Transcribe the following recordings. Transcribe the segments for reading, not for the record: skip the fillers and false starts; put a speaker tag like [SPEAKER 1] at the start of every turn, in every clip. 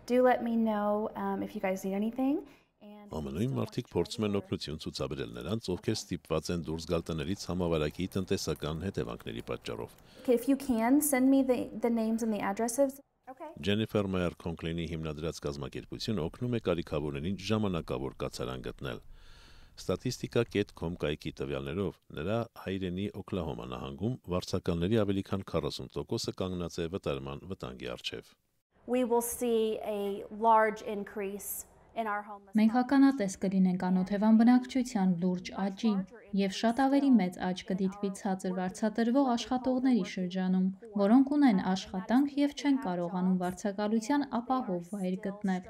[SPEAKER 1] do let me know if you guys need anything.
[SPEAKER 2] Ամենույն մարդիկ փորձում են օգնություն ցուցաբերել նրանց, ովքեր ստիպված են դուրս գալ տներից համավարակի տնտեսական հետևանքների պատճառով։
[SPEAKER 1] If you can send me the names and the addresses. Okay.
[SPEAKER 2] Ջենիֆեր Մեյեր Քոնքլինի հիմնադրած կազմակերպությունը օգնում է կարիքավորներին ժամանակավոր կացարան գտնել։ Statistika.com կայքի տվյալներով նրա հայրենի Օքլահոմա նահանգում վարձակալների ավելի քան 40%-ը կանգնած է վտարման վտանգի առջև։
[SPEAKER 1] We will see a large increase.
[SPEAKER 3] Մենք ականատես կլինենք անօթևան բնակչության լուրջ աճի և շատ ավելի մեծ աճ կդիտվի ցածր վարձատրվող աշխատողների շրջանում, որոնք ունեն աշխատանք և չեն կարողանում վարձակալության ապահով վայր գտնել։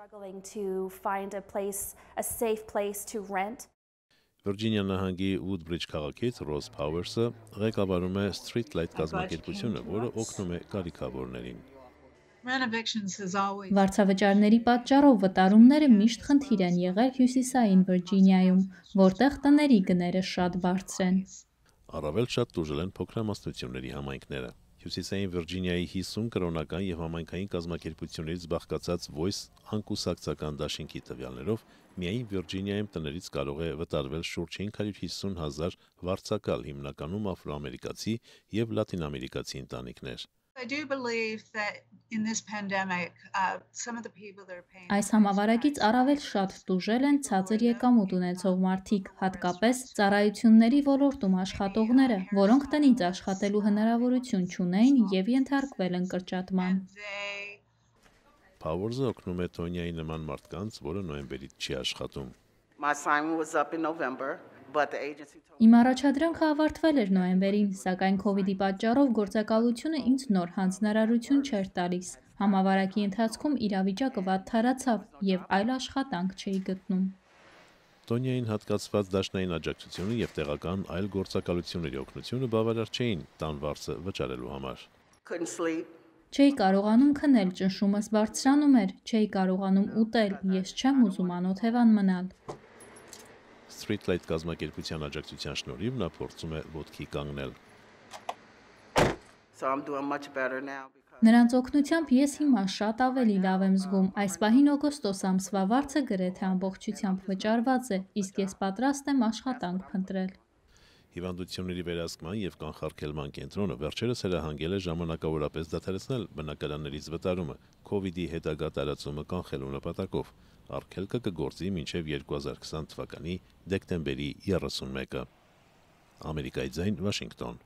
[SPEAKER 2] Վիրջինիա նահանգի Woodbridge քաղաքից Ռոզ Փաուերսը ղեկավարում է Streetlight կազմակերպությունը, որը օգնում է կարիքավորներին։
[SPEAKER 3] Վարձավճարների պատճառով վտարումները միշտ խնդիր են եղել հյուսիսային Վիրջինիայում, որտեղ տների գները շատ բարձր են։
[SPEAKER 2] Առավել շատ տուժել են փոքրամասնությունների համայնքները։ Հյուսիսային Վիրջինիայի 50 կրոնական եւ համայնքային կազմակերպություններից բաղկացած Voice անկուսակցական դաշինքի տվյալներով միայն Վիրջինիայում տներից կարող է վտարվել շուրջ 550,000 վարձակալ, հիմնականում աֆրոամերիկացի եւ լատինամերիկացի ընտանիքներ։
[SPEAKER 3] Այս համավարակից առավել շատ տուժել են ցածր եկամուտ ունեցող մարդիկ, հատկապես ծառայությունների ոլորտում աշխատողները, որոնք տնից աշխատելու հնարավորություն չունեին և ենթարկվել են կրճատման։
[SPEAKER 2] Փաուերսը օգնում է Թոնիայի նման մարդկանց, որը նոյեմբերից չի աշխատում։
[SPEAKER 3] Իմ առաջադրանքը ավարտվել էր նոյեմբերին, սակայն քովիդի պատճառով գործակալությունը ինձ նոր հանձնարարություն չէր տալիս։ Համավարակի ընթացքում իրավիճակը վատթարացավ և այլ աշխատանք չէի գտնում։
[SPEAKER 2] Տոնիային հատկացված դաշնային աջակցությունը և տեղական այլ գործակալությունների օգնությունը բավարար չէին տան վարձը վճարելու համար։
[SPEAKER 3] Չէի կարողանում քնել, ճնշումս բարձրանում էր, չէի կարողանում ուտել, ես չեմ ուզում անօթևան մնալ։
[SPEAKER 2] Streetlight կազմակերպության աջակցության շնորհիվ նա փորձում է ոտքի կանգնել։
[SPEAKER 3] Նրանց օգնությամբ ես հիմա շատ ավելի լավ եմ զգում։ Այս պահին օգոստոս ամսվա վարձը գրեթե ամբողջությամբ վճարված է, իսկ ես պատրաստ եմ աշխատանք փնտրել։
[SPEAKER 2] Հիվանդությունների վերահսկման և կանխարգելման կենտրոնը վերջերս հրահանգել է ժամանակավորապես դադարեցնել բնակարաններից վտարումը քովիդի հետագա տարածումը կանխելու նպատակով։ Արգելքը կգործի մինչև 2020 թվականի դեկտեմբերի 31-ը։ Ամերիկայի ձայն, Վաշինգտոն։